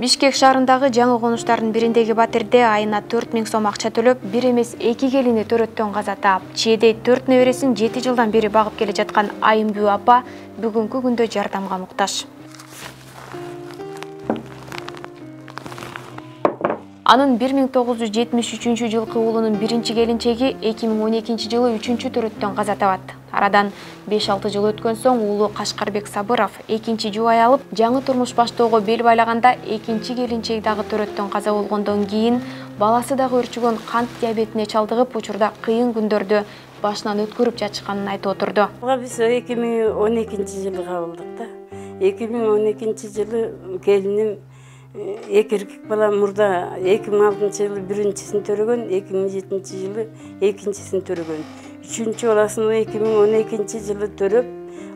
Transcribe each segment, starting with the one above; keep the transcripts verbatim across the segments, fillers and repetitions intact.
Бишкек шаарындагы жаңы конуштардын бириндеги батирде айына төрт миң сом акча төлөп, бир эмес эки келини төрөттөн каза таап, чээдей төрт небересин жети жылдан бери багып келе жаткан Айымбүү апа бүгүнкү күндө жардамга муктаж. Анын бир миң тогуз жүз жетимиш үчүнчү жылкы уулунун биринчи келинчеги эки миң он экинчи жылы үчүнчү төрөттөн каза табат. Арадан беш алты жыл өткөн соң уулу Кашкарбек Сабыров экинчи жубай алып, жаңы турмуш баштоого бел байлаганда экинчи келинчеги дагы төрөттөн каза болгондон кийин баласы дагы өрчүгөн кант диабетине чалдыгып, учурда кыйын күндөрдү башынан өткөрүп жатышканын айтып отурду. Биз эки миң он экинчи жылы кабылдык да. эки миң он экинчи жылы келиним эки эркек бала мурда эки миң алтынчы жылы биринчисин төрөгөн, эки миң жетинчи жылы экинчисин төрөгөн. Үчүнчү баласын эки миң он экинчи жылы төрөп,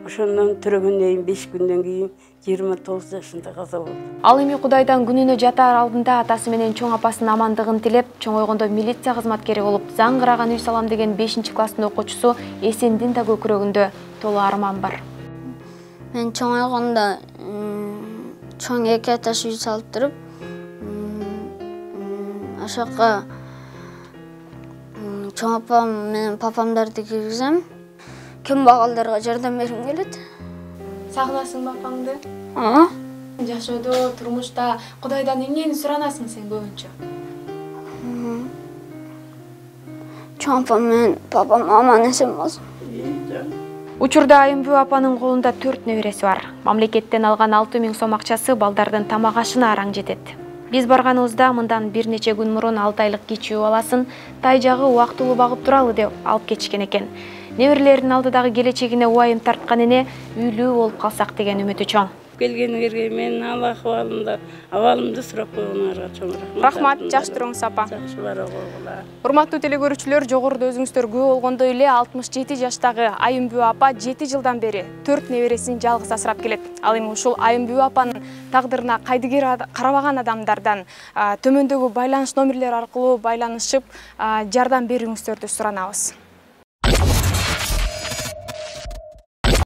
ошондон төрөгөндөн кийин беш күндөн кийин жыйырма тогуз жашында каза болду. Ал эми Кудайдан күнүнө жатаар алдында атасы менен чоң апасынын амандыгын тилеп, чоңойгондо милиция кызматкери болуп, заңгыраган үй салам деген бешинчи класстын окуучусу Эсендин да көкүрөгүндө толуу арман бар. Мен чоңойгондо чоң эки этаж үй салып туруп, ошоко чоң апам менен папамдарды киргизем, кембагалдарга жардам бергим келет. Сагынасыңбы апаңды? Ооба. Жашоодо, турмушта Кудайдан эмнени суранасың сен көбүнчө? Чоң апам менен папам аман эсен болсун. Учурда Айымбүү апанын колунда төрт небереси бар. Мамлекеттен алган алты миң сом акчасы балдардын тамак ашына араң жетет. Биз барганыбызда мындан бир нече күн мурун алты айлык кичүү баласын тай жагы убактылуу багып туралы деп алып кетишкен экен. Неберелеринин алдыдагы келечегине убайым тарткан эне үйлүү болуп калсак деген үмүтү чоң. Келгениңерге менин ал акыбалымда, абалымды сурап койгоңорго чоң рахмат. Рахмат, жакшы туруңуз апа. Жакшы бара койгула. Урматтуу телекөрүүчүлөр, жогоруда өзүңүздөр күбө болгондой эле алтымыш жети жаштагы Айымбүү апа жети жылдан бери төрт небересин жалгыз асырап келет. Ал эми ушул Айымбүү апанын тагдырына кайдыгер карабаган адамдардан төмөндөгү байланыш номерлери аркылуу байланышып жардам берүүңүздөрдү суранабыз.